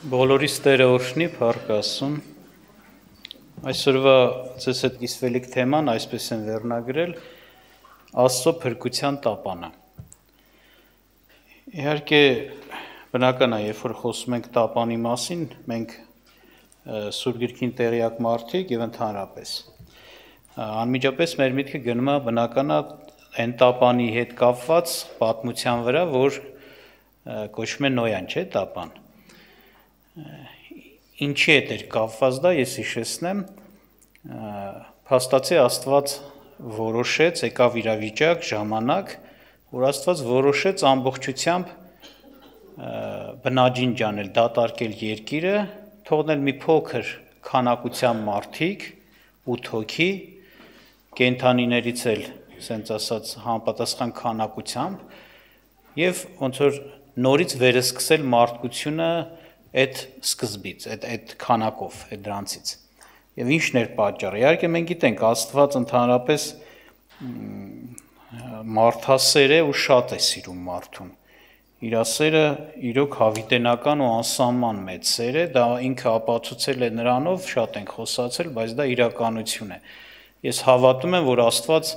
Բոլորիս Տերը օրհնի, փառք Աստծուն։ Այսօրվա ձեզ հետ կիսվելիք թեման այսպես են վերնագրել Աստծո փրկության տապանը։ Իհարկե բնական է, երբ որ խոսում ենք տապանի մասին, մենք Սուրբ Գրքին տեղյակ մարդիկ եւ ընդհանրապես անմիջապես մեր միտքը գնում է բնական է այն տապանի հետ կապված պատմության վրա, որ կոչվում է Նոյան, չէ՞, տապան։ Ինչի հետ էր կապված դա, ես հիշեցնեմ, փաստացի Աստված որոշեց, եկավ իրավիճակ, ժամանակ, որ Աստված որոշեց ամբողջությամբ բնաջին ջանել, դատարկել երկիրը, թողնել մի փոքր քանակության մարդիկ, 8 հոգի, կենդանիներից էլ, ասենց ասած, համապատասխան քանակությամբ, եւ ոնց որ նորից վերսկսել մարդկությունը այդ սկզբից, այդ քանակով, այդ դրանցից։ Եվ ինչն էր պատճառը։ Իհարկե մենք գիտենք, Աստված ընդհանրապես մարդասեր է ու շատ է սիրում մարդուն։ Իր սերը իրոք հավիտենական ու անսահման մեծ սեր է, դա ինքը ապացուցել է նրանով, շատ ենք խոսացել, բայց դա իրականություն է։ Ես հավատում եմ, որ Աստված,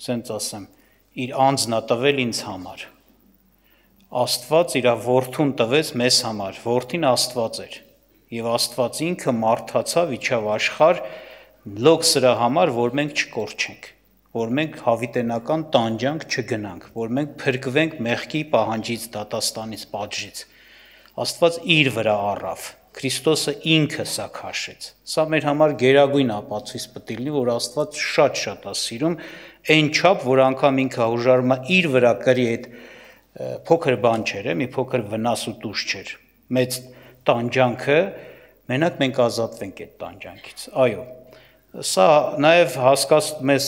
ասենց ասեմ, իր անձն է տվել ինձ համար։ Աստված իր որդուն տվեց մեզ համար, որդին Աստված էր, եւ Աստված ինքը մարդացավ, իջավ աշխարհ լոկ սրա համար, որ մենք չկորչենք, որ մենք հավիտենական տանջանք չգնանք, որ մենք փրկվենք մեղքի պահանջից, դատաստանից, պատժից։ Աստված իր վրա առավ, Քրիստոսը ինքը սա քաշեց։ Սա մեր համար գերագույն ապացույց պետք է լինի, որ Աստված շատ է սիրում, այն չափ, որ անգամ ինքը հուժարում է իր վրա կրի այդ փոքր բան չէր, մի փոքր վնաս ու տուժ չէր։ Մեծ տանջանքը, մենակ մենք ազատվենք այդ տանջանքից։ Այո, սա նաև մեզ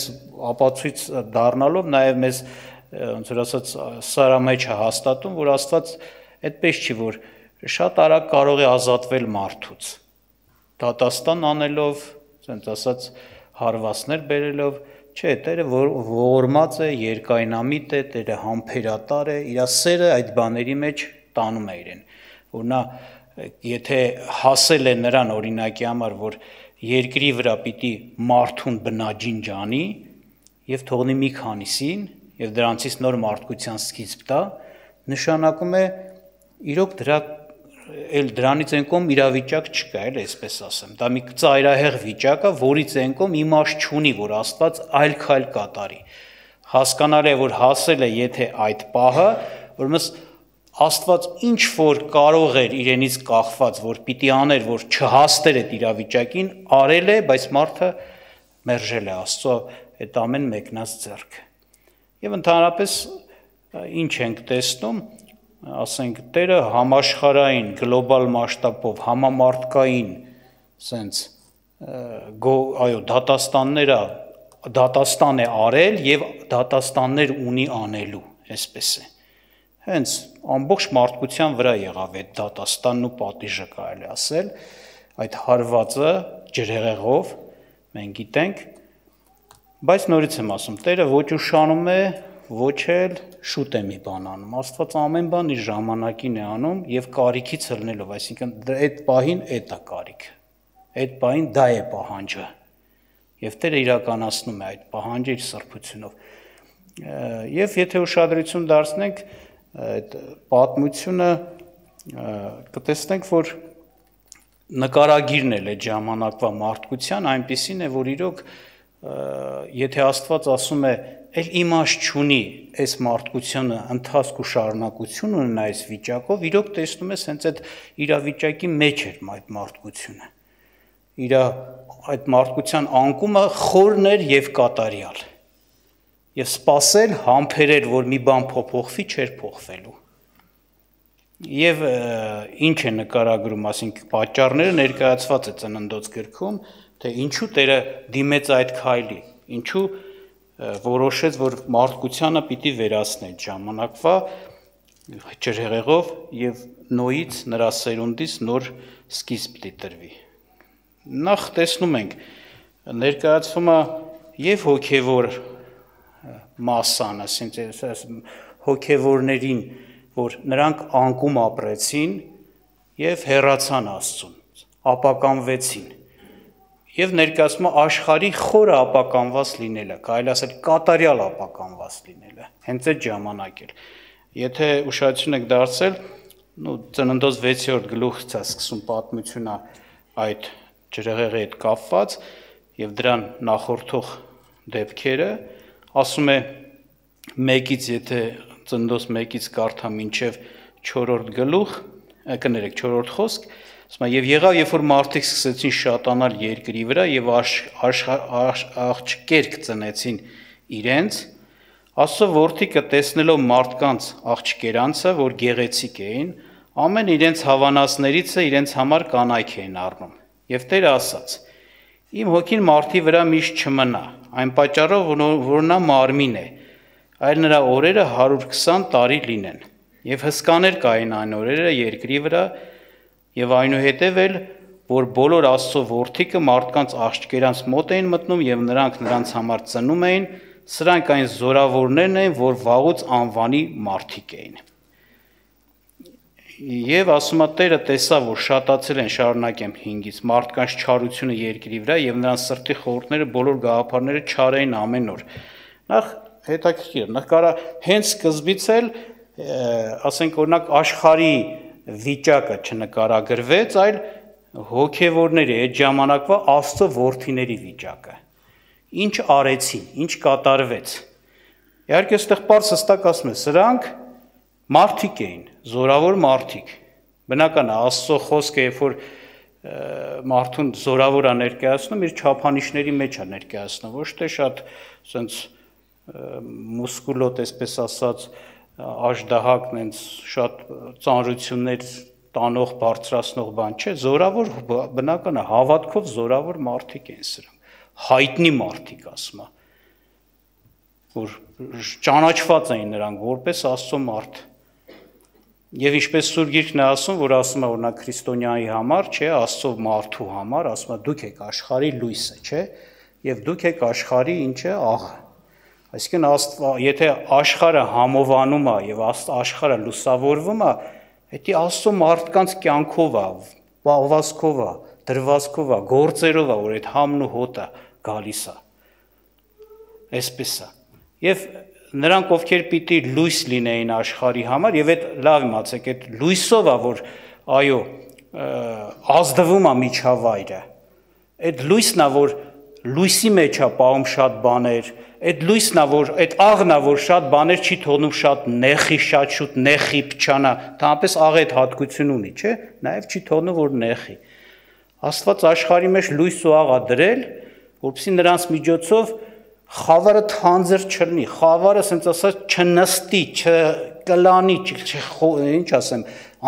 ապացույց դառնալով, նաև մեզ ոնց որ ասած սրա մեջ է հաստատում, որ Աստված այդպես չի, որ շատ արագ կարող է ազատվել մարդուց։ Դատաստան անելով, ասենց ասած հարվածներ բերելով, չէ, Տերը ողորմած է, երկայնամիտ է, Տերը համբերատար է, իր սերը այդ բաների մեջ տանում է իրեն, որ նա եթե հասել է նրան օրինակի համար, որ երկրի վրա պիտի մարդուն բնաջին ջանի եւ թողնի մի քանիսին եւ դրանցից նոր մարդկության սկիզբ տա, նշանակում է իրոք դրանից են կողմ իրավիճակ չկա, էլ այսպես ասեմ, դա մի ծայրահեղ վիճակ է, որից են կողմ իմաստ չունի, որ Աստված այլ քայլ կատարի։ Հասկանալ է, որ հասել է, եթե այդ պահը, որմես Աստված ինչ որ կարող էր իրենից կախված, որ պիտի աներ, որ չհասներ այդ իրավիճակին, արել է, բայց մարդը մերժել է Աստծո այդ ամեն մեկնած ձեռքը։ Եվ ընդհանրապես ինչ ենք տեսնում, ասենք Տերը համաշխարհային գլոբալ մասշտաբով համամարտկային սենց այո դատաստան է արել եւ դատաստաններ ունի անելու, այսպես է։ Հենց ամբողջ մարդկության վրա եղավ այդ դատաստանն ու պատիժը, կարելի ասել, այդ հարվածը ջրհեղեղով մենք գիտենք, բայց նորից եմ ասում, Տերը ոչ ուշանում է, ոչ էլ շուտ է մի բան անում, Աստված ամեն բան իր ժամանակին է անում եւ կարիքից ելնելով, այսինքն այդ պահին էդ է կարիքը, այդ պահին դա է պահանջը եւ Տերը իրականացնում է այդ պահանջը իր սրբությունով։ Եվ եթե ուշադրություն դարձնենք այդ պատմությունը, կտեսնենք, որ նկարագիրն էլ այդ ժամանակվա մարդկության այնպիսին է, որ իրոք եթե Աստված ասում է էլ իմաստ չունի այս մարդկությունը ընթացք ու շարունակություն ունենա այս վիճակով, իրոք տեսնում ես հենց այդ իրավիճակի մեջ էր այդ մարդկությունը։ Իր այդ մարդկության անկումը խորն էր եւ կատարյալ։ Եվ սпасել, համբերել, որ մի բան փոփոխվի, չէր փոխվելու։ Եվ ինչ է նկարագրում, ասենք պատճառները ներկայացված է Ծննդոց գրքում, թե ինչու Տերը դիմեց այդ քայլի, ինչու որոշեց, որ մարդկությանը պիտի վերացնի ժամանակվա ջրհեղեղով եւ Նոյից նրա սերունդից նոր սկիզբ պիտի տրվի։ Նախ տեսնում ենք ներկայացվում է եւ հոգեվոր մասան, ասենք հոգեվորներին, որ նրանք անկում ապրեցին, եւ հեռացան Աստծուն, ապականվեցին։ Եվ ներկայացնում աշխարհի խորը ապականված լինելը, կարելի ասել կատարյալ ապականված լինելը, հենց այդ ժամանակ էլ։ Եթե ուշադրություն եք դարձել, Ծննդոց 6-րդ գլուխից է սկսում պատմությունը այդ ջրհեղեղի հետ կապված եւ դրան նախորդող դեպքերը, ասում է 1-ից, եթե Ծննդոց 1-ից կարդա մինչև 4-րդ գլուխ, կներեք 4-րդ խոսք, ասում է եւ եղավ, երբ որ մարդիկ սկսեցին շատանալ երկրի վրա եւ աղջկերք ծնեցին իրենց, Աստծո որդիքը տեսնելով մարդկանց աղջկերանցը, որ գեղեցիկ էին, ամեն իրենց հավանածներիցը իրենց համար կանայք էին առնում։ Եվ Տերը ասաց. Իմ հոգին մարդի վրա միշտ չմնա, այն պատճառով, որ նա մարմին է, այլ նրա օրերը 120 տարի լինեն։ Եվ հսկաներ կային այն օրերը երկրի վրա, եւ այնուհետև էլ, որ բոլոր Աստծո որդիքը մարդկանց աղջկերանց մոտ էին մտնում եւ նրանք նրանց համար ծնում էին, սրանք այն զորավորներն էին, որ վաղուց անվանի մարդիկ էին։ Եվ ասում է Տերը տեսավ, որ շատացել են, շարունակեմ 5-ից, մարդկանց չարությունը երկրի վրա եւ նրանց սրտի խորհուրդները բոլոր գաղափարները չար էին ամեն օր։ Նախ հետաքրքիր, նախ կարա հենց սկզբից էլ, ասենք օրինակ աշխարհի վիճակը չնկարագրվեց, այլ հոգևորների այդ ժամանակվա Աստծո որդիների վիճակը։ Ինչ արեցին, ինչ կատարվեց։ Իհարկե այստեղ պարզ հստակ ասում է, սրանք մարդիկ էին, զորավոր մարդիկ։ Բնական է, Աստծո խոսքը, երբ որ մարդուն զորավոր է ներկայացնում, իր չափանիշների մեջ է ներկայացնում, ոչ թե շատ ասենց մուսկուլոտ, այսպես ասած, աժդահակ, նենց շատ ծանրություններ տանող, բարձրացնող բան չէ, զորավոր, բնական է, հավատքով զորավոր մարդիկ են սրանք, հայտնի մարդիկ, ասում է, որ ճանաչված էին նրանք որպես Աստծո մարդ։ Եվ ինչպես Սուրբ Գիրքն է ասում, որ ասում է օրինակ քրիստոնյայի համար, չէ, Աստծո մարդու համար, ասում է դուք եք աշխարհի լույսը, չէ, եւ դուք եք աշխարհի ինչ է աղը։ Այսինքն եթե աշխարհը համովանում է եւ աշխարհը լուսավորվում է, դա Աստծո մարդկանց կյանքով է, բաղվածքով է, դրվածքով է, գործերով է, որ այդ համն ու հոտը գալիս է։ Այսպես է։ Եվ նրանք, ովքեր պիտի լույս լինեին աշխարհի համար, եւ այդ լավ իմացեք, այդ լույսով է, որ այո, ազդվում է միջավայրը։ Այդ լույսն է, որ լույսի մեջ է պահում շատ բաներ, այդ լույսն է, որ այդ աղն է, որ շատ բաներ չի թողնում շատ նեխի, շատ շուտ նեխի փչանա, թամապես աղը այդ հատկություն ունի, չէ՞, նաեւ չի թողնում, որ նեխի։ Աստված աշխարհի մեջ լույս ու աղ է դրել, որպեսզի նրանց միջոցով խավարը թանձր չլինի, խավարը ասենց ասած չնստի, չկլանի, ինչ ասեմ,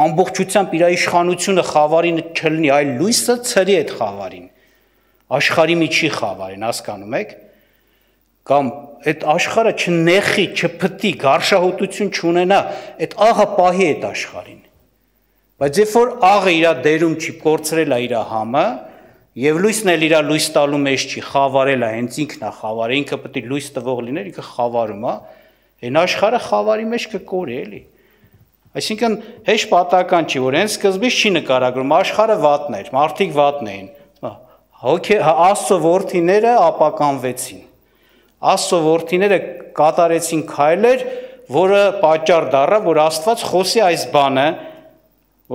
ամբողջությամբ իր իշխանությունը խավարին չլինի, այլ լույսը ցրի այդ խավարին, աշխարհի միջի խավարին, հասկանում եք, կամ այդ աշխարհը չնեխի, չփտի, գարշահոտություն չունենա, այդ աղը պահի այդ աշխարհին։ Բայց երբ որ աղը իր դերում չի, կորցրել է իր համը, եւ լույսն էլ իր լույս տալու մեջ չի, խավարել է, հենց ինքն է խավարը, ինքը պետք է լույս տվող լիներ, ինքը խավարում է, այն աշխարհը խավարի մեջ կկորի էլի։ Այսինքն հեշտ պատահական չի, որ հենց սկզբից չի նկարագրում, աշխարհը վատն էր, մարդիկ վատն էին։ Աստծո որդիները ապականվեցին։ Աստծո որդիները կատարեցին քայլեր, որը պատճառ դառավ, որ Աստված խոսի այս բանը,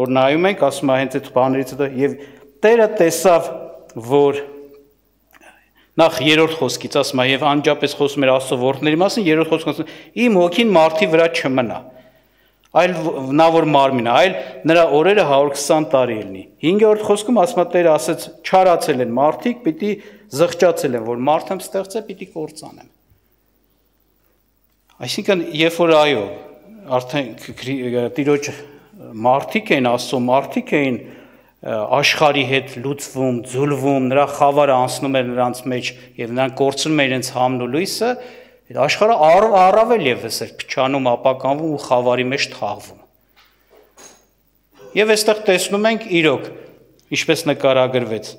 որ նայում ենք, ասում է հենց այդ բաներից հետո եւ Տերը տեսավ, որ նախ երրորդ խոսքից ասում է եւ անջապես խոսում էր Աստծո որդների մասին, երրորդ խոսքում ասում իմ հոգին մարդի վրա չմնա, այլ նա որ մարմին է, այլ նրա օրերը 120 տարի լինի։ 5-րդ խոսքում ասում է Տերը ասեց չարացել են մարդիկ, պիտի զղջացել են, որ մարդը ստեղծե, պիտի կործանեմ։ Այսինքն երբ որ այո, արդեն Տիրոջ մարդիկ էին, Աստծո մարդիկ էին աշխարհի հետ լուծվում, ձուլվում, նրա խավարը անցնում էր նրանց մեջ եւ նրանք կորցնում են իրենց համն ու լույսը, այդ աշխարհը առավել եւս էր փչանում, ապականվում ու խավարի մեջ թաղվում։ Եվ այստեղ տեսնում ենք իրոք, ինչպես նկարագրվեց,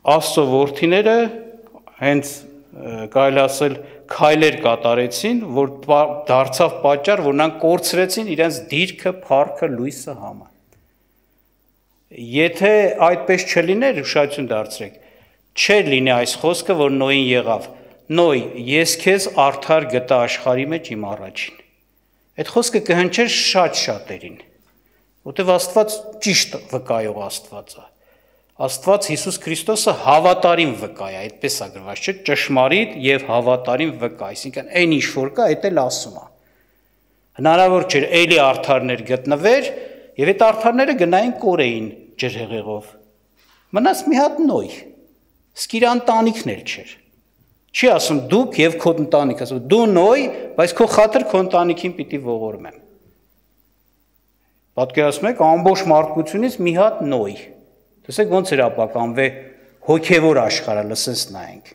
Աստծո որդիները հենց կարելի ասել քայլեր կատարեցին, որ դարձավ պատճառ, որ նրանք կորցրեցին իրենց դիրքը, փառքը, լույսը, համը։ Եթե այդպես չլիներ, ուշադրություն դարձրեք, չէր լինի այս խոսքը, որ Նոյին եղավ, Նոյ, ես քեզ արդար գտա աշխարհի մեջ իմ առաջին։ Այդ խոսքը կհնչեր շատ շատերին, որտեղ Աստված ճիշտ վկայող Աստված է։ Աստված Հիսուս Քրիստոսը հավատարիմ վկա է, այդպես է գրված, չէ՞, ճշմարիտ եւ հավատարիմ վկա, այսինքն այն ինչ որ կա, այդ էլ ասում է։ Հնարավոր չէր էլի արդարներ գտնվեր եւ այդ արդարները գնային կորեին ջրհեղեղով։ Մնաց մի հատ Նոյ, իսկ իր ընտանիքն էլ չէր։ Չի ասում դուք եւ քո ընտանիքը, ասում դու Նոյ, բայց քո խաթր քո ընտանիքին պիտի ողորմեմ։ Պատկերացնում եք ամբողջ մարդկությունից մի հատ Նոյ։ Տեսեք ոնց էր ապականվե հոգևոր աշխարհը, լսես նայենք։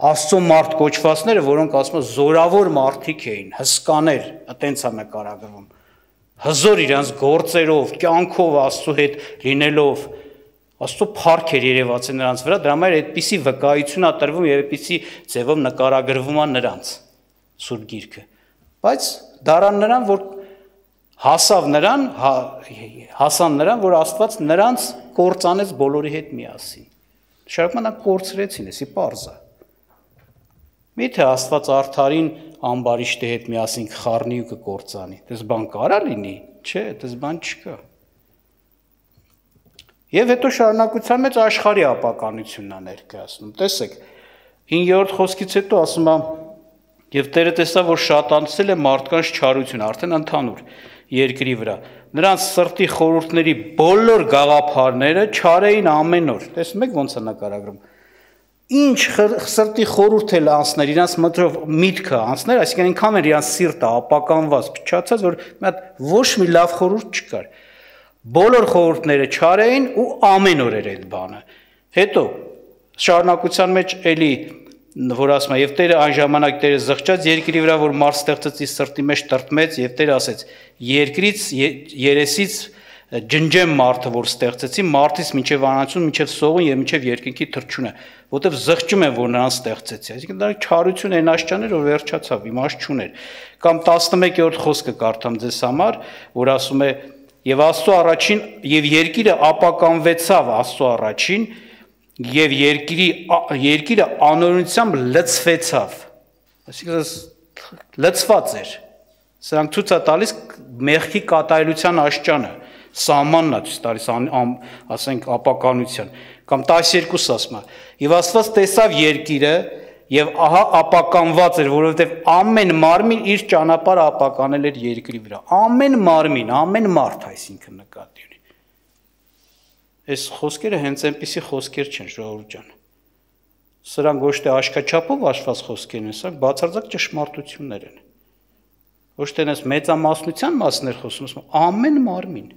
Աստծո մարդ կոչվածները, որոնք ասում են զորավոր մարդիկ էին, հսկաներ, այտենց է նկարագրվում։ Հզոր իրանց գործերով, կյանքով Աստծո հետ լինելով, Աստծո փառք էր երևաց նրանց վրա, դրա համար այդպիսի վկայություն է տրվում եւ այդպիսի ձևով նկարագրվում է նրանց Սուրբ Գիրքը։ Բայց դարան նրան, որ հասան նրան, որ Աստված նրանց կործանեց բոլորի հետ միասին։ Շարունակում նա կորցրեցին, էսի պարզ է։ Միթե Աստված արդարին ամբարիշտի հետ միասին կխառնի ու կկործանի։ Դες բան կարա լինի, չէ, դες բան չկա։ Եվ հետո շարունակության մեջ աշխարհի ապականությունն է ներկայացնում։ Տեսեք, 5-րդ խոսքից հետո ասում է. «Եվ Տերը տեսավ, որ շատացել է մարդկանց չարությունը, արդեն ընդհանուր երկրի վրա։ Նրանց սրտի խորհուրդների բոլոր գաղափարները չար էին ամեն օր»։ Տեսնում եք ոնց է նկարագրում։ Ինչ սրտի խորհուրդ էլ անցներ, իրանց միտքը անցներ, այսինքն այնքան էր իրանց սիրտը ապականված, փչացած, որ մի հատ ոչ մի լավ խորհուրդ չկար։ Բոլոր խորհուրդները չար էին ու ամեն օր էր այդ բանը։ Հետո շարունակության մեջ էլի որ ասում է եւ Տերը այն ժամանակ Տերը զղջաց երկրի վրա, որ մարդ ստեղծեց իր սրտի մեջ տրտմեց եւ Տերը ասեց. երկրից երեսից ջնջեմ մարդը, որ ստեղծեցի, մարդից մինչև անացուն, մինչև սողուն եւ մինչև երկնքի թրջունը, որտեվ զղջում եմ, որ նրան ստեղծեցի։ Այսինքն դա չարություն այն աշճաներ, որ վերջացավ, իմաստ չուներ։ Կամ 11-րդ խոսքը կարդամ ձեզ համար, որ ասում է. Եվ Աստծո առաջին եւ երկիրը ապականվեցավ Աստծո առաջին եւ երկիրը անօրինությամբ լցվեցավ։ Այսինքն լցված էր։ Սրանք ցույց է տալիս մեղքի կատարելության աշճանը, սահմանն է ցույց տալիս, ասենք ապականության։ Կամ 12 ասում է. Եվ Աստված տեսավ երկիրը եւ ահա ապականված էր, որովհետեւ ամեն մարմին իր ճանապարհը ապականել էր երկրի վրա։ Ամեն մարմին, ամեն մարդ, այսինքն նկատի ունի։ Այս խոսքերը հենց այնպիսի խոսքեր չեն, ժողովուրդ ջան։ Սրանք ոչ թե աշկաչափով հաշված խոսքեր են, սրանք բացարձակ ճշմարտություններ են։ Ոչ թե այնպես մեծամասնության մասներ խոսում, ամեն մարմին։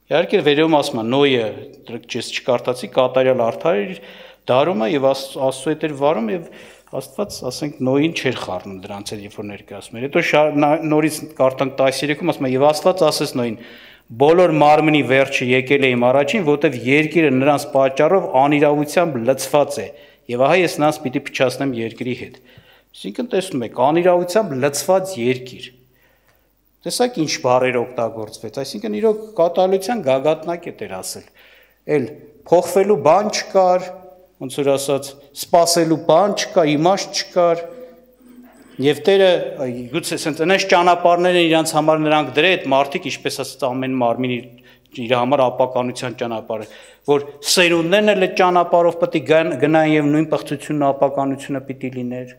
Իհարկե վերևում ասում է Նոյը, ես չկարդացի, կատարյալ արդար էր դարումը եւ Աստծո հետ էր վարում եւ Աստված, ասենք, Նոյին չէր խառնում դրանց հետ, երբ որ ներկայացնում էր։ Հետո նորից կարդանք 13-ում ասում է եւ Աստված ասեց Նոյին. բոլոր մարմնի վերջը եկել է իմ առաջին, որտեվ երկիրը նրանց պատճառով անիրավությամբ լցված է եւ ահա ես նրանց պիտի փչացնեմ երկրի հետ։ Այսինքն տեսնում եք, անիրավությամբ լցված երկիր։ Տեսակ ինչ բառեր օգտագործվեց, այսինքն իրոք կատարելության գագաթնակետ էր ասել։ Էլ փոխվելու բան չկար, ոնց որ ասած, սпасելու բան չկար, իմաստ չկար։ Եվ Տերը գուցե ասենց այնպես ճանապարհներ են իրանց համար նրանք դրել, այդ մարդիկ, ինչպես ասած, ամեն մարմին իր համար ապականության ճանապարհը, որ սերունդներն էլ այդ ճանապարհով պետք է գնային եւ նույն պղծությունն ու ապականությունը պիտի լիներ։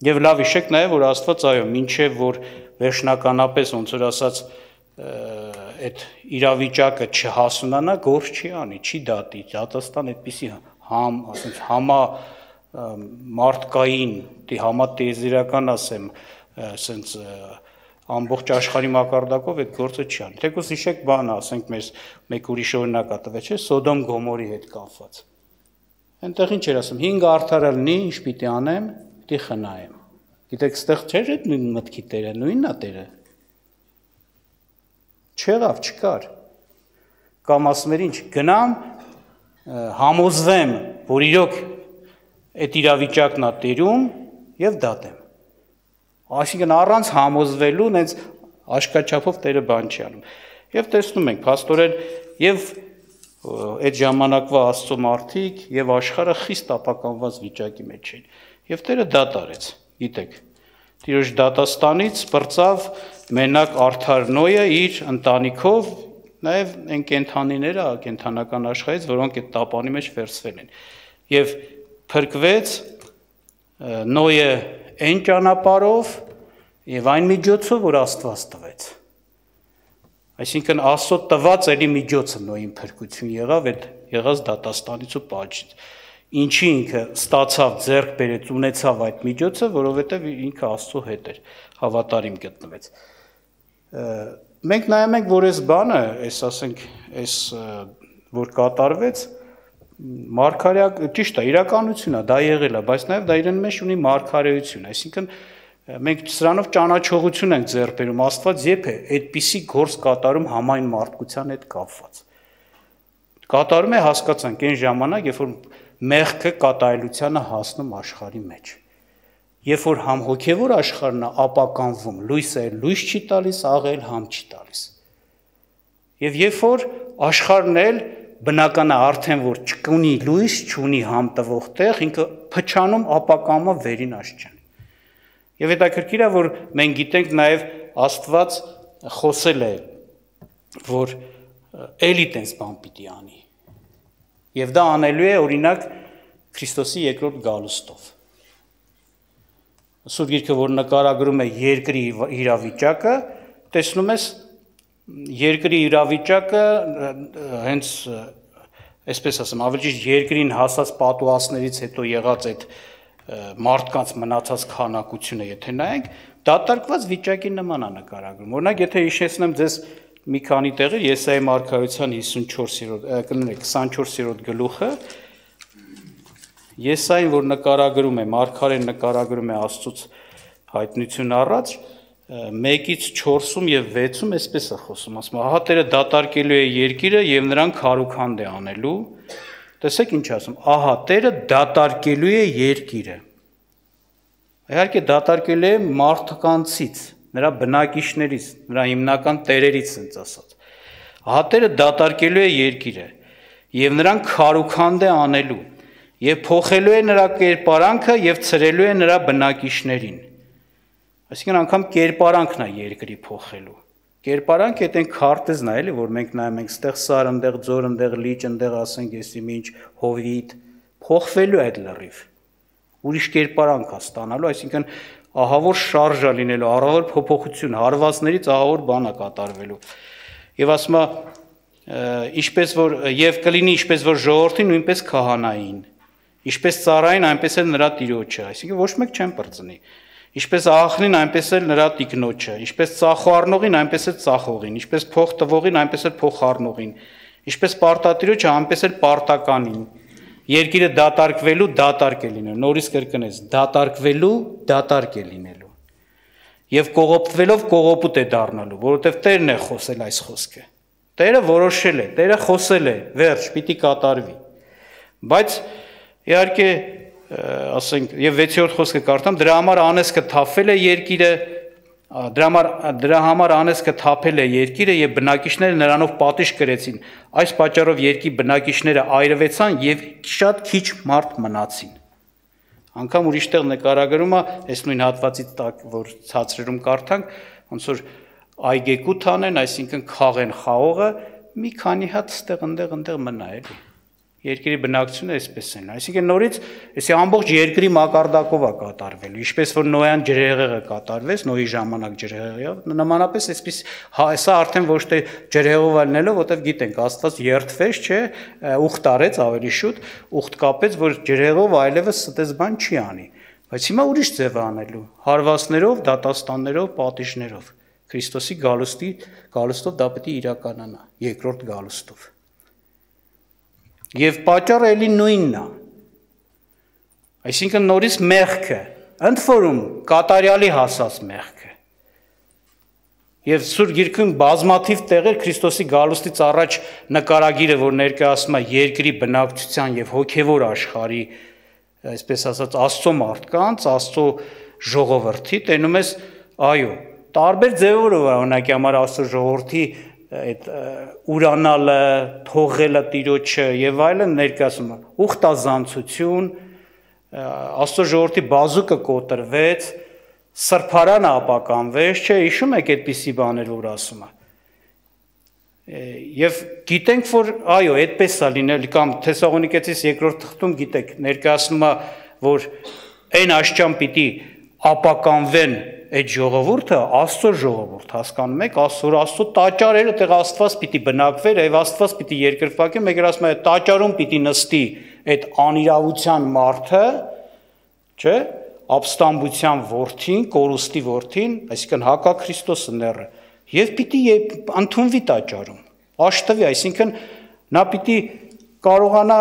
Եվ լավ հիշեք նաեւ, որ Աստված այո, մինչեւ որ վերջնականապես ոնց որ ասած այդ իրավիճակը չհասունանա, գործ չի անի, չի դատի, դատաստան այդպիսի ասենց համա մարդկային, համատեզերական ասեմ, ասենց ամբողջ աշխարհի մակարդակով այդ գործը չի անի։ Թեկուզ հիշեք բանը, ասենք մեզ մեկ ուրիշ օրինակ ա տվել, չէ՞, Սոդոմ Գոմորի հետ կապված։ Այնտեղ ինչ էր ասում, 5 արդար լինի, ինչ պիտի անեմ, պիտի խնայեմ։ Գիտեք, ստեղ չէր այդ նույն մտքի Տերը, նույնն է Տերը։ Չեղավ, չկար։ Կամ ասում էր ինչ, գնամ, համոզվեմ, որ իրոք այդ իրավիճակն է տերում եւ դատեմ։ Այսինքն առանց համոզվելու նենց աշկաչափով Տերը բան չի անում։ Եվ տեսնում ենք, փաստորեն, եւ այդ ժամանակվա Աստծո մարդիկ եւ աշխարհը խիստ ապականված վիճակի մեջ էին։ Եվ Տերը դա տարեց, գիտեք։ Տիրոջ դատաստանից բրծավ մենակ արդար Նոյը իր ընտանիքով, նաեւ այն կենդանիները կենդանական աշխարհից, որոնք այդ տապանի մեջ վերցվել են։ Եվ փրկվեց Նոյը այն ճանապարհով եւ այն միջոցով, որ Աստված տվեց։ Այսինքն Աստծո տված էլի միջոցը Նոյին փրկություն եղավ այդ եղած դատաստանից ու պատժից։ Ինչի ինքը ստացավ, ձեռք բերեց, ունեցավ այդ միջոցը, որովհետև ինքը Աստծո հետ էր, հավատարիմ գտնվեց։ Մենք նայում ենք, որ այս բանը, ասենք, որ կատարվեց, մարգարեակ ճիշտ է, իրականություն է, դա եղել է, բայց նաև դա իրեն մեջ ունի մարգարեություն, այսինքն մենք սրանով ճանաչողություն ենք ձեռք բերում, Աստված երբ է այդպիսի գործ կատարում համայն մարդկության հետ կապված։ Կատարում է, հասկացանք, այն ժամանակ, երբ որ մեղքը կատարելությանը հասնում աշխարհի մեջ։ Երբ որ համ հոգևոր աշխարհն է ապականվում, լույսը լույս չի տալիս, աղել համ չի տալիս։ Եվ երբ որ աշխարհն էլ բնական է արդեն որ չունի լույս, չունի համ տվող տեղ, ինքը փչանում ապականվում վերին աշխարհ։ Եվ հետաքրքիր է, որ մենք գիտենք նաև Աստված խոսել է, որ էլի տենց բան պիտի անի։ Եվ դա անելու է օրինակ Քրիստոսի երկրորդ գալուստով։ Սուրբ Գիրքը, որ նկարագրում է երկրի իրավիճակը, տեսնում ես երկրի իրավիճակը հենց այսպես ասեմ, ավելի ճիշտ երկրին հասած պատուհասներից հետո եղած այդ մարդկանց մնացած քանակությունը, եթե նայենք, դատարկված վիճակի նման է նկարագրում։ Օրինակ, եթե հիշեցնեմ ձեզ մի քանի տեղեր, Եսայի մարգարեության 24-րդ գլուխը, Եսային, որ նկարագրում է, մարգարեն նկարագրում է Աստծուց հայտնություն առած, 1-ից 4-ում եւ 6-ում այսպես է խոսում, ասում, ահա Տերը դատարկելու է երկիրը եւ նրան քարուքանդ է անելու։ Տեսեք ինչ ասում, ահա Տերը դատարկելու է երկիրը։ Իհարկե դատարկելու է մարդկանցից, նրա բնակիչներից, նրա հիմնական տերերից ասենց ասած։ Ահա Տերը դատարկելու է երկիրը եւ նրան քարուքանդ է անելու եւ փոխելու է նրա կերպարանքը եւ ցրելու է նրա բնակիչներին։ Այսինքն անգամ կերպարանքն է երկրի փոխելու։ Կերպարանքը այդ այն քարտեզն է, էլի, որ մենք նայում ենք, ստեղ սար, ընդեղ ձոր, ընդեղ լիճ, ընդեղ ասենք, եսի ինչ հովիտ, փոխվելու է այդ լրիվ։ Ուրիշ կերպարանք է ստանալու, այսինքն ահավոր շարժ է լինելու, ահավոր փոփոխություն, հարվածներից ահավոր բան է կատարվելու։ Եվ ասում է, ինչպես որ եւ կլինի ինչպես որ ժողովրդին, նույնպես քահանային, ինչպես ծառային, այնպես էլ նրա տիրոջը, այսինքն ոչ մեկ չեն բրծնի։ Ինչպես աղախնին, այնպես էլ նրա տիկնոջը, ինչպես ծախոառնողին, այնպես էլ ծախողին, ինչպես փող տվողին, այնպես էլ փոխառնողին, ինչպես պարտատիրոջը, այնպես էլ պարտականին։ Երկիրը դատարկվելու դատարկ է լինելու, նորից կրկնես, դատարկվելու դատարկ է լինելու։ Եվ կողոպտվելով կողոպուտ է դառնալու, որովհետև Տերն է խոսել այս խոսքը։ Տերը որոշել է, Տերը խոսել է, վերջ, պիտի կատարվի։ Բայց իհարկե ասենք եւ 6-րդ խոսքը կարդամ, դրա համար անեսքը թափվել է երկիրը, դրա համար անեսքը թափել է երկիրը եւ բնակիչները նրանով պատիժ կրեցին։ Այս պատճառով երկի բնակիչները այրվեցան եւ շատ քիչ մարդ մնացին։ Անկամ ուրիշ տեղ նկարագրում է, այս նույն հատվածից տակ, որ ցածրերում կարդանք, ոնց որ այգեկութ անեն, այսինքն խաղեն խաղողը, մի քանի հատ ստեղ ընդեղ մնա էլի։ Երկրի բնակչությունը այսպես են, այսինքն նորից էսի ամբողջ երկրի մակարդակով է կատարվելու, ինչպես որ Նոյան ջրհեղեղը կատարվեց, Նոյի ժամանակ ջրհեղեղով, նմանապես այսպես սա արդեն ոչ թե ջրհեղով ալնելով, որտեվ գիտենք, Աստված երթվեց, չէ, ուխտ արեց ավելի շուտ, ուխտ կապեց, որ ջրհեղով այլևս ստես բան չի անի, բայց հիմա ուրիշ ձև անելու, հարվածներով, դատաստաններով, պատիժներով, Քրիստոսի գալուստով դա պետք է իրականանա, երկրորդ գալուստով։ Եվ պատճառը էլի նույնն է։ Այսինքն նորից մեղքը, ընդ որում կատարյալի հասած մեղքը։ Եվ Սուրբ Գիրքում բազմաթիվ տեղեր Քրիստոսի գալուստից առաջ նկարագիրը, որ ներկայացնում է երկրի բնակչության եւ հոգեվոր աշխարհի, այսպես ասած, Աստծո մարդկանց, Աստծո ժողովրդի, տենում ես, այո, տարբեր ձևերով օրինակի համար Աստծո ժողովրդի այդ ուրանալը, թողելը տիրոջը եւ այլն ներկայացում է ուխտազանցություն, Աստծո ժողովրդի բազուկը կոտրվեց, սրբարանը ապականվեց, չէ, հիշում եք այդպիսի բաներ, որ ասում է։ Եվ գիտենք, որ այո, այդպես է լինել, կամ Թեսաղոնիկեցիս երկրորդ թղթում գիտեք, ներկայացնում է, որ այն աշճան պիտի ապականվեն այդ ժողովուրդը, Աստծո ժողովուրդ, հասկանում եք, Աստծո տաճարերը, տեղ Աստված պիտի բնակվեր, եւ Աստված պիտի երկրպագի, մեկ էլ ասում է, տաճարում պիտի նստի այդ անիրավության մարդը, չէ, ապստամբության որդին, կորուստի որդին, այսինքն հակաքրիստոսը ները, եւ պիտի ընդունվի տաճարում, աշտվի, այսինքն նա պիտի կարողանա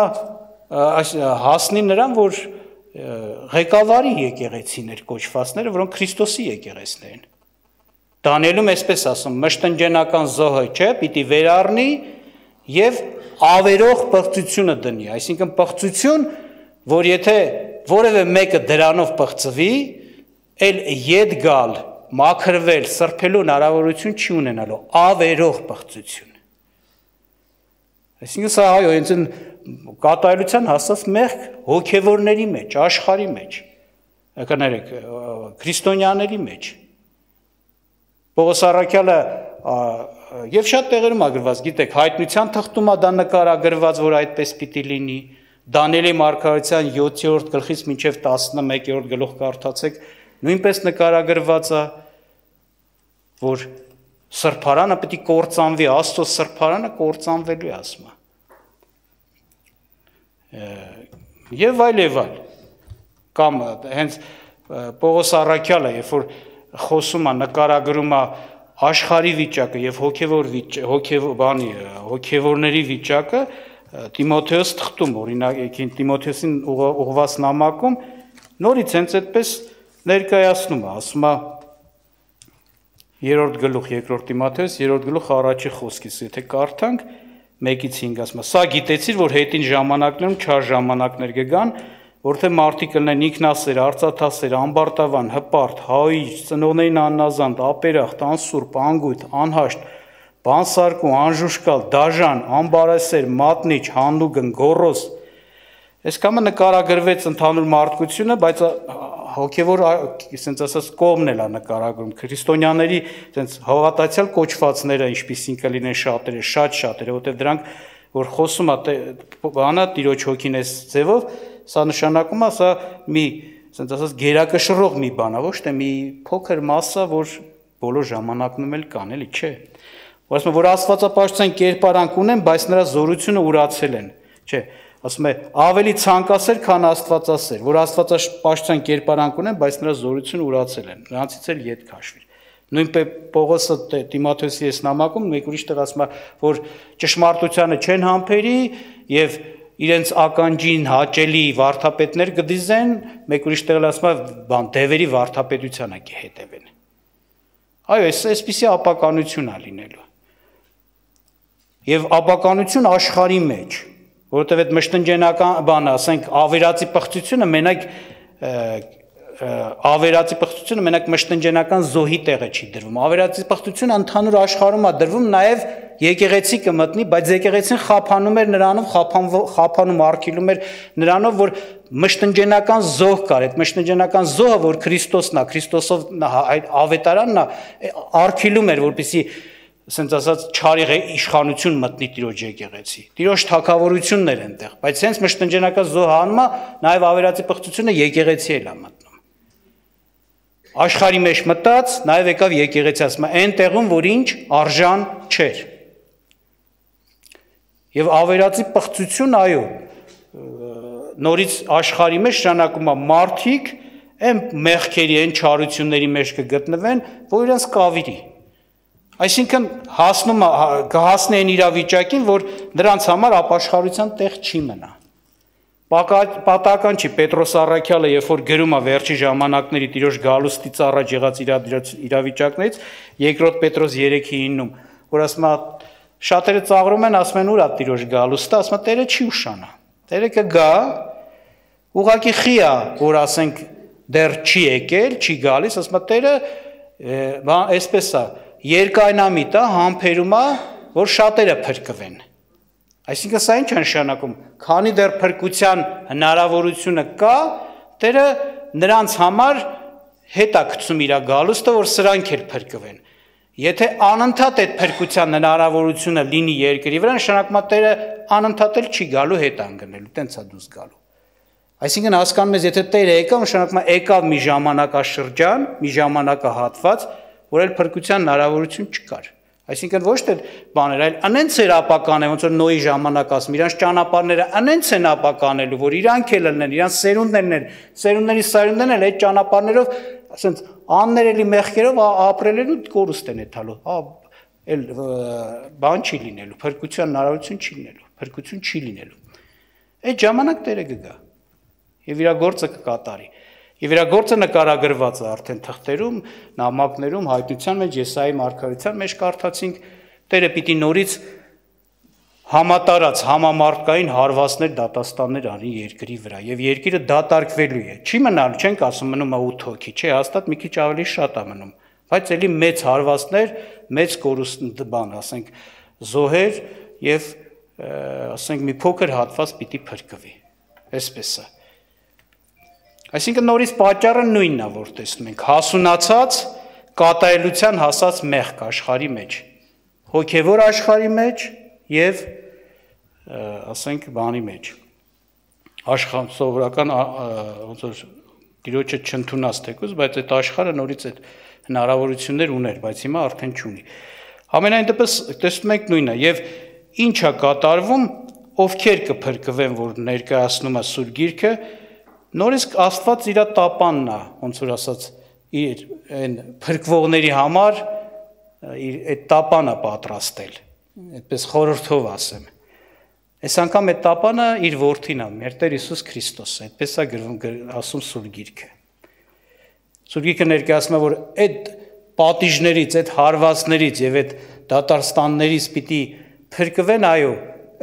հասնի նրան, որ ղեկավարի եկեղեցիներ կոչվածները, որոնք Քրիստոսի եկեղեցիներ են։ Դանիելում այսպես ասում, մշտնջենական զոհը, չէ, պիտի վերառնի եւ ավերող պղծությունը դնի, այսինքն պղծություն, որ եթե որևէ մեկը դրանով պղծվի, էլ ետ գալ, մաքրվել, սրբելու հնարավորություն չի ունենալու, ավերող պղծություն։ Այսինքն սա այո, հենց կատարելության հասած մեղք հոգևորների մեջ, աշխարհի մեջ, կներեք, քրիստոնյաների մեջ։ Պողոս առաքյալը եւ շատ տեղերում ագրված, գիտեք, հայտնության թղթում դա նկարագրված, որ այդպես պիտի լինի, Դանիելի մարգարեության 7-րդ գլխից մինչև 11-րդ գլուխ կարդացեք, նույնպես նկարագրված է, որ սրբարանը պիտի կործանվի, Աստծո սրբարանը կործանվելու է, ասում է։ Եվ այլ, կամ հենց Պողոս առաքյալը, երբ որ խոսում է, նկարագրում է աշխարհի վիճակը եւ հոգևորների վիճակը, Տիմոթեոս թղթում, օրինակ Տիմոթեոսին ուղղված նամակում նորից հենց այդպես ներկայացնում է, ասում է 3-րդ գլուխ 2 Տիմոթեոս 3-րդ գլուխ առաջի խոսքից, եթե կարդանք 1-ից 5 ասում է. Սա գիտեցիր, որ հետին ժամանակներում չար ժամանակներ կգան, որտեղ մարդիկ կլինեն ինքնասեր, արծաթասեր, ամբարտավան, հպարտ, հայիչ, ծնողներին աննազանդ, ապերախտ, անսուրբ, անգույտ, անհաշտ, բանսարկու, անժուշկալ, դաժան, ամբարասեր, մատնիչ, հանուգն, գոռոզ։ Այս կամը նկարագրվեց ընդհանուր մարդկությունը, բայց հոգևոր, ասենց ասած, կողմն էլ է նկարագրում, քրիստոնյաների հավատացյալ կոչվածները, ինչպիսին կլինեն շատերը, որտեղ դրանք, որ խոսում է բանը, Տիրոջ հոգին այս ձևով, սա նշանակում է, սա մի, ասենց ասած, գերակշռող մի բան է, ոչ թե մի փոքր մասը, որ բոլոր ժամանակնում էլ կան, էլի չէ։ Ասում է, որ աստվածապաշտության կերպարանք ունեն, բայց նրա զորությունը ուրացել են, չէ, ասում է, ավելի ցանկասեր, քան աստվածասեր, որ աստվածապաշտության կերպարանք ունեն, բայց նրա զորությունը ուրացել են, նրանցից էլ ետ քաշվիր։ Նույնպես Պողոսը Տիմոթեոսի այս նամակում մեկ ուրիշ տեղ ասում է, որ ճշմարտությանը չեն համբերի եւ իրենց ականջին հաճելի վարդապետներ կդիզեն, մեկ ուրիշ տեղ ասում է, բան դևերի վարդապետությանը կհետևեն։ Այո, այսպիսի ապականություն է լինելու։ Եվ ապականություն աշխարհի մեջ, որովհետև այդ մշտնջենական բանը, ասենք, ավերածի պղծությունը մենակ մշտնջենական զոհի տեղը չի դրվում։ Ավերածի պղծությունը ընդհանուր աշխարհում է դրվում, նաև եկեղեցի կմտնի, բայց եկեղեցին խափանում էր նրանով, խափանում արգելում էր նրանով, որ մշտնջենական զոհ կար, այդ մշտնջենական զոհը, որ Քրիստոսն է, Քրիստոսով ավետարանն է, արգելում էր, որպեսզի ասենց ասած չարի իշխանություն մտնի Տիրոջ եկեղեցի։ Տիրոջ թագավորություններ այնտեղ, բայց հենց մշտնջենական զոհը անում է, նաև ավերածի պղծությունը եկեղեցի էլ է մտնում։ Աշխարհի մեջ մտած, նաև եկավ եկեղեցի, ասում է, այն տեղում, որ ինչ արժան չէր։ Եվ ավերածի պղծություն, այո, նորից աշխարհի մեջ շանակում է մարդիկ այն մեղքերի, այն չարությունների մեջ կգտնվեն, որ իրենց կավիրի։ Այսինքն կհասնի այն իրավիճակին, որ նրանց համար ապաշխարության տեղ չի մնա։ Պատահական չի Պետրոս առաքյալը, երբ որ գրում է վերջի ժամանակների Տիրոջ գալուստից առաջ եղած իրավիճակներից, 2 Պետրոս 3:9-ում, որ ասում է, շատերը ծաղրում են, ասում են, ուր է Տիրոջ գալուստը, ասում է, Տերը չի ուշանա։ Տերը կգա, ուղղակի խի է, որ ասենք դեռ չի եկել, չի գալիս, ասում է, Տերը այսպես է, երկայնամիտ է, համբերում է, որ շատերը փրկվեն։ Այսինքն սա ինչ է նշանակում, քանի դեռ փրկության հնարավորությունը կա, Տերը նրանց համար հետ է գցում իր գալուստը, որ սրանք էլ փրկվեն։ Եթե անընդհատ այդ փրկության հնարավորությունը լինի երկրի վրա, նշանակում է Տերը անընդհատ էլ չի գալու հետ անգնելու, տենց է դուրս գալու։ Այսինքն հասկանում ես, եթե Տերը եկավ, նշանակում է եկավ մի ժամանակաշրջան, մի ժամանակահատված, որ այլ փրկության հնարավորություն չկար։ Այսինքն ոչ թե բաներ, այլ անենց էր ապական է, ոնց որ Նոյի ժամանակ ասում, իրանց ճանապարհները անենց են ապականելու, որ իրանք էլ լինեն, իրանց սերունդներն են, սերունդների սերունդներն էլ այդ ճանապարհներով, ասենց աններելի մեղքերով ապրել են ու կորուստ են եթալու, այլ բան չի լինելու, փրկության հնարավորություն չի լինելու, փրկություն չի լինելու։ Այդ ժամանակ Տերը կգա եւ իր գործը կկատարի։ Եվ իր գործը նկարագրված է արդեն թղթերում, նամակներում, հայտնության մեջ, Եսայի մարգարեության մեջ կարդացինք, Տերը պիտի նորից համատարած համամարտկային հարվածներ, դատաստաններ անի երկրի վրա, եւ երկիրը դատարկվելու է։ Չի մնալու, չենք ասում մնում է 8 հոգի, չէ, հաստատ մի քիչ ավելի շատ է մնում, բայց էլի մեծ հարվածներ, մեծ կորուստ բան, ասենք, զոհեր եւ ասենք մի փոքր հատված պիտի փրկվի։ Այսպես է։ Այսինքն նորից պատճառը նույնն է, որ տեսնում ենք, հասունացած կատարելության հասած մեղք աշխարհի մեջ, հոգևոր աշխարհի մեջ եւ ասենք բանի մեջ, աշխարհ սովորական ոնց որ Տիրոջը չընդունած թեկուզ, բայց այդ աշխարհը նորից այդ հնարավորություններ ուներ, բայց հիմա արդեն չունի։ Ամենայն դեպս տեսնում ենք նույնը եւ ինչ է կատարվում, ովքեր կփրկվեն, որ ներկայացնում է Սուրբ Գիրքը, նորից Աստված իր տապանն է, ոնց որ ասած, իր այն փրկվողների համար իր այդ տապանը պատրաստել, այդպես խորհրդով ասեմ։ Այս անգամ այդ տապանը իր որդին է, մեր Տեր Հիսուս Քրիստոսը, այդպես է ասում Սուրբ Գիրքը։ Սուրբ Գիրքը ներկայացնում է, որ այդ պատիժներից, այդ հարվածներից եւ այդ դատաստաններից պիտի փրկվեն, այո,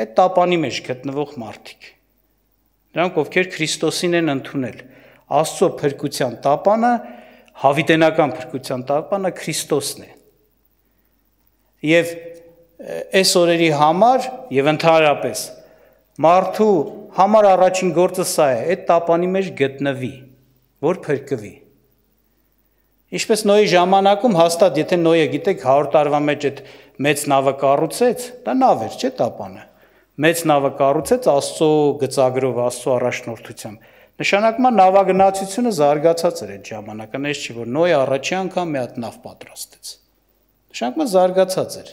այդ տապանի մեջ գտնվող մարդիկ։ Նրանք, ովքեր Քրիստոսին են ընդունել, Աստծո փրկության տապանը, հավիտենական փրկության տապանը Քրիստոսն է։ Եվ այս օրերի համար եւ ընդհանրապես մարդու համար առաջին գործը սա է, այդ տապանի մեջ գտնվի, որ փրկվի։ Ինչպես Նոյի ժամանակում հաստատ, եթե Նոյը գիտեք 100 տարվա մեջ այդ մեծ նավը կառուցեց, դա նավ էր, չէ՞ տապանը։ Մեծ նավը կառուցեց Աստծո գծագրով, Աստծո առաջնորդությամբ։ Նշանակում է նավագնացությունը զարգացած էր այդ ժամանակը, այնպես չի, որ Նոյը առաջի անգամ մի հատ նավ պատրաստեց։ Նշանակում է զարգացած էր։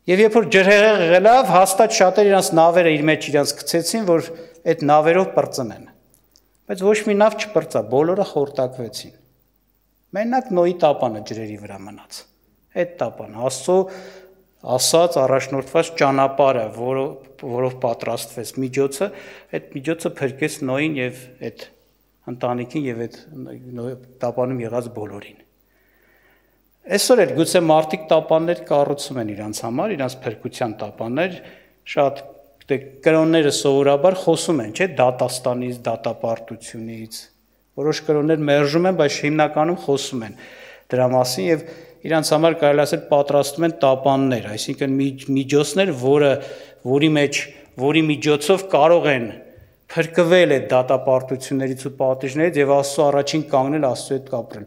Եվ երբ որ ջրհեղեղ եղավ, հաստատ շատեր իրանց նավերը իր մեջ իրանց գցեցին, որ այդ նավերով պրծնեն։ Բայց ոչ մի նավ չպրծա, բոլորը խորտակվեցին։ Մենակ Նոյի տապանը ջրերի վրա մնաց։ Այդ տապանը Աստծո ասած առաջնորդված ճանապարհը, որով պատրաստվեց միջոցը, այդ միջոցը փրկեց Նոյին եւ այդ ընտանիքին եւ այդ տապանում եղած բոլորին։ Այսօր էլ գուցե մարդիկ տապաններ կառուցում են իրանց համար, իրանց փրկության տապաններ, շատ կրոնները սովորաբար խոսում են, չէ՞, դատաստանից, դատապարտությունից, որոշ կրոններ մերժում են, բայց հիմնականում խոսում են դրա մասին եւ իրանց համար կարելի ասել պատրաստում են տապաններ, այսինքն միջոցներ, որի միջոցով կարող են փրկվել այդ դատապարտություններից ու պատիժներից եւ Աստծո առաջին կանգնել, Աստծո հետ կապրել։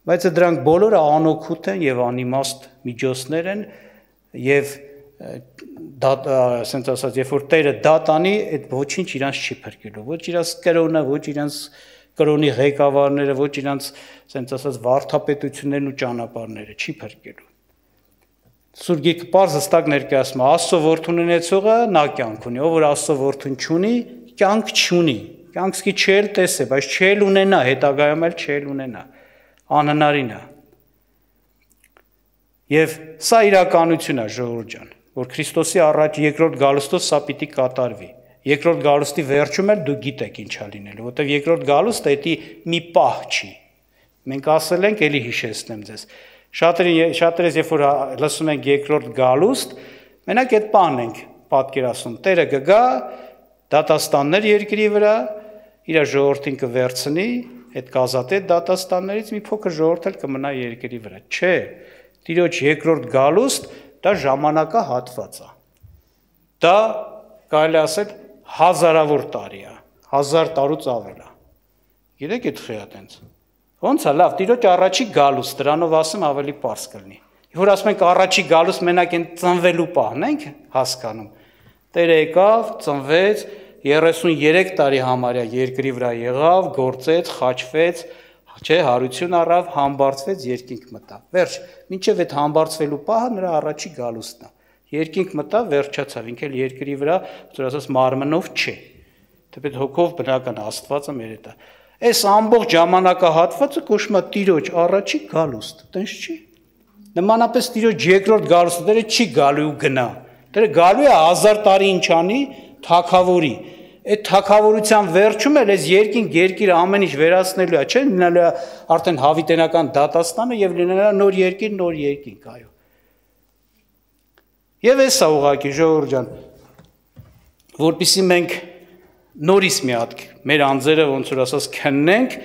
Բայց դրանք բոլորը անօգուտ են եւ անիմաստ միջոցներ են եւ ասենց ասած, երբ որ Տերը դատ անի, այդ ոչինչ իրանց չի փրկելու, ոչ իրանց կրոնը, ոչ իրանց կրոնի ղեկավարները, ոչ իրանց ասենց ասած վարդապետություններն ու ճանապարհները չի փրկելու։ Սուրբ Գիրքը պարզ հստակ ներկայացնում է, Աստծո որդուն ունեցողը նա կյանք ունի, ով որ Աստծո որդուն չունի, կյանք չունի, կյանք սկի չել տեսե, բայց չել ունենա, հետագայում էլ չել ունենա, անհնարին է։ Եվ սա իրականություն է, ժողովուրդ ջան, որ Քրիստոսի առաջ երկրորդ գալուստով սա պիտի կատարվի։ Երկրորդ գալուստի վերջում էլ դու գիտեք ինչ է լինելու, որտեղ երկրորդ գալուստը դա մի պահ չի։ Մենք ասել ենք, ելի հիշեցնեմ ձեզ։ Շատերս երբ որ լսում ենք երկրորդ գալուստ, մենակ այդ բանն ենք պատկերացնում։ Տերը կգա, դատաստաններ երկրի վրա, իր ժողովրդին կվերցնի, այդ կազատե դատաստաններից մի փոքր ժողովուրդ էլ կմնա երկրի վրա։ Չէ, Տիրոջ երկրորդ գալուստ դա ժամանակահատված է։ Դա կարելի ասել հազարավոր տարի է, 1000 տարուց ավել է։ Գիտեք այդ խիա տենց։ Ոնց է, լավ, Տիրոջ առաջի գալուս, դրանով ասեմ ավելի պարզ կլինի։ Որ ասում ենք առաջի գալուս մենակ այն ծնվելու պահն ենք հասկանում։ Տերը եկավ, ծնվեց, 33 տարի համարյա երկրի վրա եղավ, գործեց, խաչվեց, չէ, հարություն առավ, համբարձվեց, երկինք մտավ։ Վերջ, մինչև այդ համբարձվելու պահը նրա առաջի գալուստն է։ Երկինք մտավ, վերջացավ, ինքն էլ երկրի վրա, որ ասած մարմնով չէ։ Թեպետ հոգով բնական Աստվածը մեր հետ է։ Այս ամբողջ ժամանակահատվածը կոչվում է Տիրոջ առաջի գալուստ, տենց չի։ Նմանապես Տիրոջ երկրորդ գալուստը դերը չի գալու ու գնա։ Դերը գալու է 1000 տարի ինչ անի, թագավորի։ Այդ թագավորության վերջում էլ այս երկիր ամեն ինչ վերացնելու է, չէ՞, լինելու է արդեն հավիտենական դատաստանը եւ լինելու է նոր երկինք, այո։ Եվ էսա ուղղակի ժողովուրդ ջան, որպեսզի մենք նորից մի հատ մեր անձերը ոնց որ ասած քննենք,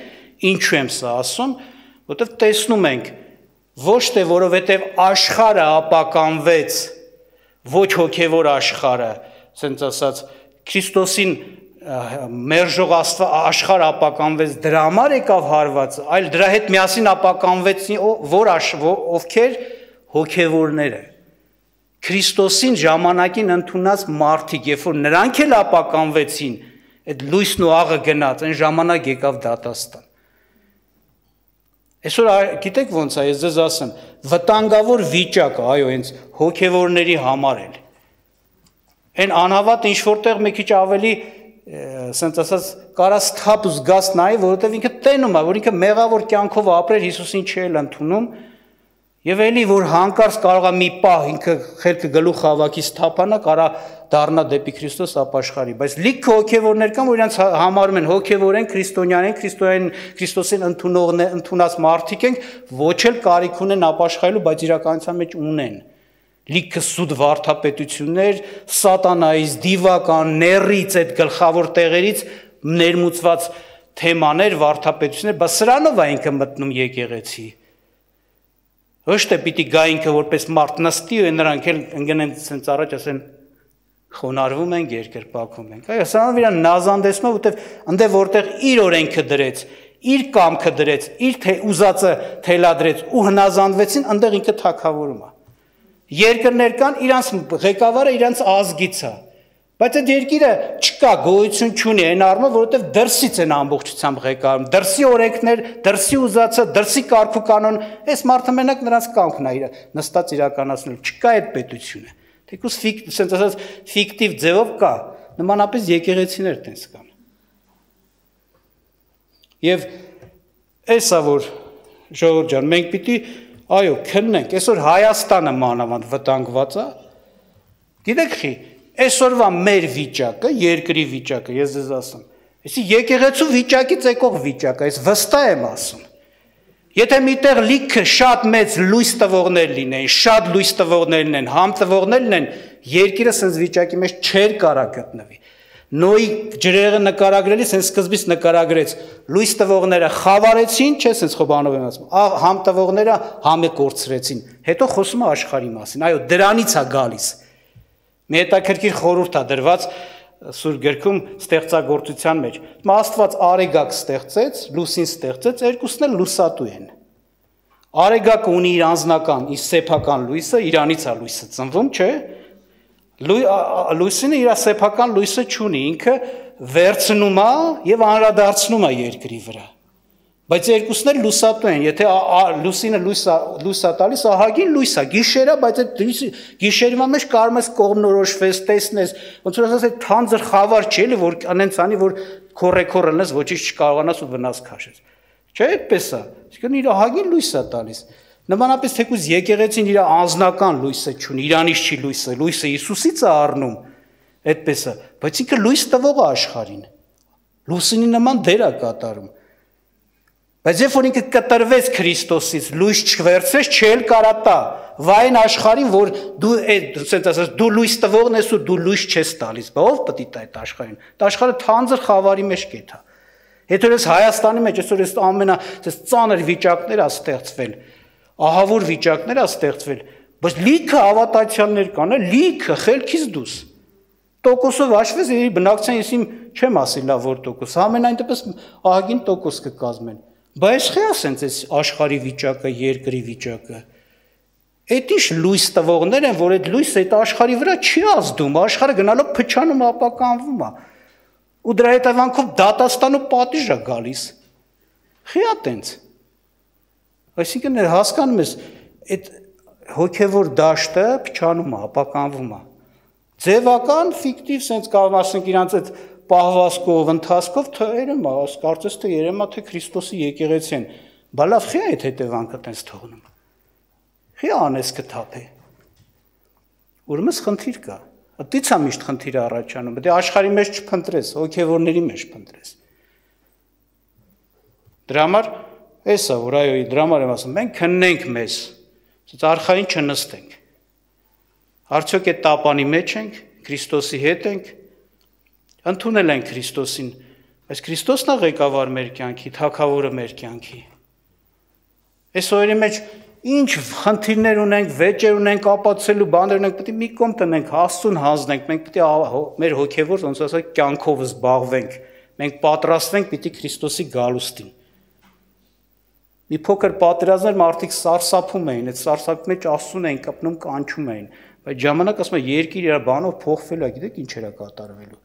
ինչու եմ սա ասում, որովհետև տեսնում ենք ոչ թե որովհետև աշխարհը ապականվեց, ոչ հոգևոր աշխարհը, ասենց ասած Քրիստոսին մերժող աշխարհը ապականվեց, դրա համար եկավ հարվածը, այլ դրա հետ միասին ապականվեցին ովքեր հոգևորները։ Քրիստոսին ժամանակին ընդունած մարդիկ, երբ որ նրանք էլ ապականվեցին, այդ լույսն ու աղը գնաց, այն ժամանակ եկավ դատաստան։ Այսօր գիտեք ոնց է, ես ձեզ ասեմ, վտանգավոր վիճակը, այո, հենց հոգևորների համար էլ։ Այն անհավատ ինչ որտեղ մի քիչ ավելի, ասենց ասած, կարա սթափ ու զգաս նայի, որովհետև ինքը տենում է, որ ինքը մեղավոր կյանքով ապրել Հիսուսին չէ ընդունում, եւ էլի որ հանկարծ կարող է մի պահ ինքը խելքը գլուխ հավաքի սթափանա, կարա դառնա դեպի Քրիստոս ապաշխարի, բայց լիքը հոգևորներ կան, որ իրանց համարում են հոգևոր են, քրիստոնյան են, Քրիստոսին ընդունած մարդիկ են, ոչ էլ կարիք ունեն ապաշխարելու, բայց իրականության մեջ ունեն։ Լիքը սուտ վարդապետություններ, սատանայից, դիվական, ներից, այդ գլխավոր տեղերից ներմուծված թեմաներ, վարդապետություններ, բայց սրանով է ինքը մտնում եկեղեցի։ Ոչ թե պիտի գա ինքը որպես մարդ նստի ու նրանք էլ ընկնեն ցենց առաջ ասեն խոնարհվում ենք, երկրպագում ենք։ Այո, սրանով իրան նազանդեցնում է, որտեվ ընդ որտեղ իր օրենքը դրեց, իր կամքը դրեց, իր ուզածը թելադրեց ու հնազանդվեցին, այնտեղ ինքը թագավորում է։ Երկրներ կան, իրանց ղեկավարը իրանց ազգից է, բայց այդ երկիրը չկա, գոյություն չունի այն առումով, որովհետև դրսից են ամբողջությամբ ղեկավարում, դրսի օրենքներ, դրսի ուզածը, դրսի կարգուկանոն, այս մարդը մենակ նրանց կամքն է նստած իրականացնելու, չկա այդ պետությունը։ Թեկուզ ասենց ասած ֆիկտիվ ձևով կա, նմանապես եկեղեցիներ տենց կան։ Եվ էսա որ ժողովուրդ ջան, մենք պիտի այո, քննենք, այսօր Հայաստանը մանավանդ վտանգված է։ Գիտեք խի, այսօրվա մեր վիճակը, երկրի վիճակը, ես ձեզ ասում, այսի եկեղեցու վիճակից եկող վիճակը, այս վստահ եմ ասում։ Եթե միտեղ լիքը շատ մեծ լույս տվողներ լինեն, շատ լույս տվողներ լինեն, համ տվողներ լինեն, երկիրը սենց վիճակի մեջ չէր կարա գտնվի։ Նոյի ջրեղը նկարագրելիս հենց սկզբից նկարագրեց լույս տվողները խավարեցին, չէ՞ սենց Խոբանով եմ ասում, համ տվողները համը կորցրեցին, հետո խոսում է աշխարհի մասին, այո, դրանից է գալիս։ Մի հետաքրքիր խորհուրդ է դրված Սուրբ գրքում ստեղծագործության մեջ։ Աստված արեգակ ստեղծեց, լուսին ստեղծեց, երկուսն էլ լուսատու են։ Արեգակը ունի իր անձնական, իր սեփական լույսը, իրանից է լույսը ծնվում, չէ՞։ Լույսինը իր սեփական լույսը չունի, ինքը վերցնում է եւ անդրադարձնում է երկրի վրա։ Բայց երկուսն էլ լուսատու են, եթե լուսինը լույս է տալիս, ահագին լույս է, գիշեր է, բայց այդ գիշերվա մեջ կարող ես կողմնորոշվես, տեսնես, ոնց որ ասած այդ թանձր խավար չի էլի, որ անենց անի, որ քորեքորը լնես, ոչինչ չկարողանաս ու վնաս քաշես։ Չէ՞ այդպես է։ Իսկն իր ահագին լույս է տալիս։ Նմանապես թեկուզ եկեղեցին իր անձնական լույսը չունի, իրանից չի լույսը Հիսուսից է առնում, այդպես է, բայց ինքը լույս տվող է աշխարհին։ Լուսինի նման դեր է կատարում։ Բայց երբ որ ինքը կտրվեց Քրիստոսից, լույս չվերցրեց, չէլ կարա տա, վայն աշխարհին, որ դու ասենց ասած դու լույս տվողն ես ու դու լույս չես տալիս, բա ով պետք է տա այդ աշխարհին։ Այդ աշխարհը թանձր խավարի մեջ կեթա։ Հետո ես Հայաստանի մեջ այսօր ամենա ծանր վիճակներ է ստեղծվել, ահավոր վիճակներ է ստեղծվել, Բայց լիքը հավատացյալներ կան, լիքը խելքից դուս։ Տոկոսով հաշվես, բնակցության ես իմ չեմ ասի լավ որ տոկոս, ամենայն դեպս ահագին տոկոս կկազմեն։ Բայց խի ասենց այս աշխարհի վիճակը, երկրի վիճակը։ Այդ ինչ լույս տվողներ են, որ այդ լույսը այդ աշխարհի վրա չի ազդում, աշխարհը գնալով փչանում ապականվում է։ Ու դրա հետևանքով դատաստանու պատիժ է գալիս։ Խի ատենց։ Այսինքն հասկանում ես, այդ հոգևոր դաշտը փչանում է, ապականվում է։ Ձևական, ֆիկտիվ, սենց կարող ասենք իրանց այդ պահվածքով, ընթացքով երևում է, կարծես թե երևում է, թե Քրիստոսի եկեղեցի են։ Բա լավ, խի այդ հետևանքը տենց թողնում։ Խի անես կթափե։ Ուրեմն խնդիր կա։ Դից է միշտ խնդիրը առաջանում, դե աշխարհի մեջ չփնտրես, հոգևորների մեջ փնտրես։ Դրա համար էսա, որ այո, դրա համար եմ ասում, մենք քննենք մեզ, արխային չնստենք։ Արդյոք այդ տապանի մեջ ենք, Քրիստոսի հետ ենք, ընդունել ենք Քրիստոսին, բայց Քրիստոսն է ղեկավար մեր կյանքի, թագավորը մեր կյանքի։ Այս օրերի մեջ ինչ խնդիրներ ունենք, վեճեր ունենք, ապացուցելու բաներ ունենք, պետք է մի կողմ տնենք, Աստծուն հանձնենք, մենք պետք է մեր հոգևոր, ոնց ասած, կյանքով զբաղվենք, մենք պատրաստվենք պիտի Քրիստոսի գալուստին։ Մի փոքր պատերազմներ մարդիկ սարսափում էին, այդ սարսափի մեջ Աստծուն էին կպնում, կանչում էին, բայց ժամանակ ասում է երկիր իր բանով փոխվել է, գիտեք ինչ era կատարվելու։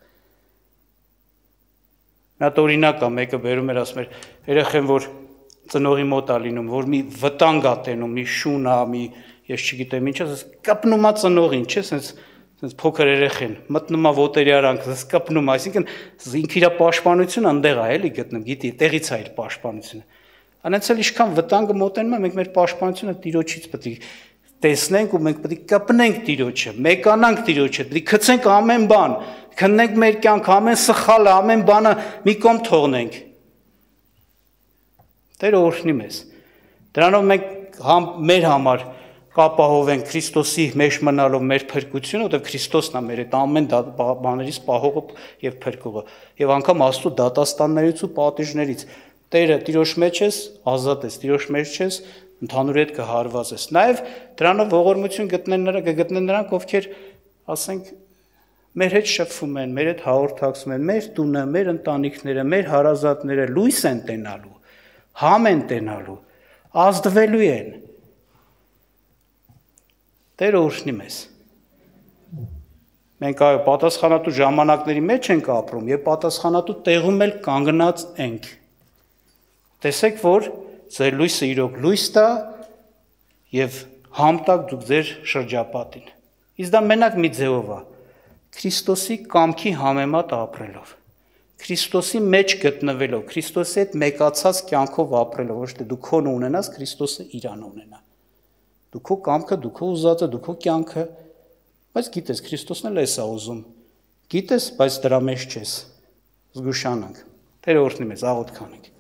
Նա օրինակ է, մեկը բերում էր ասում էր, երեխեն որ ծնողի մոտ է լինում, որ մի վտանգ է տենում, մի շուն է, մի ես չգիտեմ ինչ, կպնում է ծնողին, չէ՞, սենց փոքր երեխեն, մտնում է ոտերի արանք, կպնում, այսինքն ինքը իր պաշտպանությունը այնտեղ է, էլի գտնում, գիտի, տեղից է իր պաշտպանությունը։ Անենց էլ ինչքան վտանգը մոտենում է, մենք մեր պաշտպանությունը Տիրոջից պետք է տեսնենք ու մենք պետք է կպնենք Տիրոջը, մեկանանք Տիրոջը, պետք է գցենք ամեն բան, քննենք մեր կյանք, ամեն սխալը, ամեն բանը մի կողմ թողնենք։ Տերը օրհնի մեզ։ Դրանով մենք մեր համար կապահովենք Քրիստոսի մեջ մնալով մեր փրկությունը, որտեղ Քրիստոսն է մեր այդ ամեն բաներից պահողը եւ փրկողը, եւ անգամ Աստծո դատաստաններից ու պատիժներից։ Տերը Տիրոջ մեջ ես, ազատ ես, Տիրոջ մեջ ես, ընդհանուր հետ կհարված ես։ Նաև դրանով ողորմություն կգտնեն նրանք, ովքեր, ասենք, մեր հետ շփվում են, մեր հետ հաղորդակցում են, մեր տունը, մեր ընտանիքները, մեր հարազատները լույս են տենալու, համ են տենալու, ազդվելու են։ Տերը օրհնի մեզ։ Մենք այո պատասխանատու ժամանակների մեջ ենք ապրում եւ պատասխանատու տեղում էլ կանգնած ենք։ Տեսեք, որ ձեր լույսը իրոք լույս տա եւ համտակ դուք ձեր շրջապատին։ Իսկ դա մենակ մի ձևով է, Քրիստոսի կամքի համեմատ ապրելով, Քրիստոսի մեջ գտնվելով, Քրիստոսի հետ մեկացած կյանքով ապրելով, ոչ թե դու քոնը ունենաս, Քրիստոսը իրան ունենա։ Դու քո կամքը, դու քո ուզածը, դու քո կյանքը, բայց գիտես, Քրիստոսն էլ էս է ուզում։ Գիտես, բայց դրա մեջ չես։ Զգուշանանք։ Տերը օրհնի մեզ, աղոթք անենք։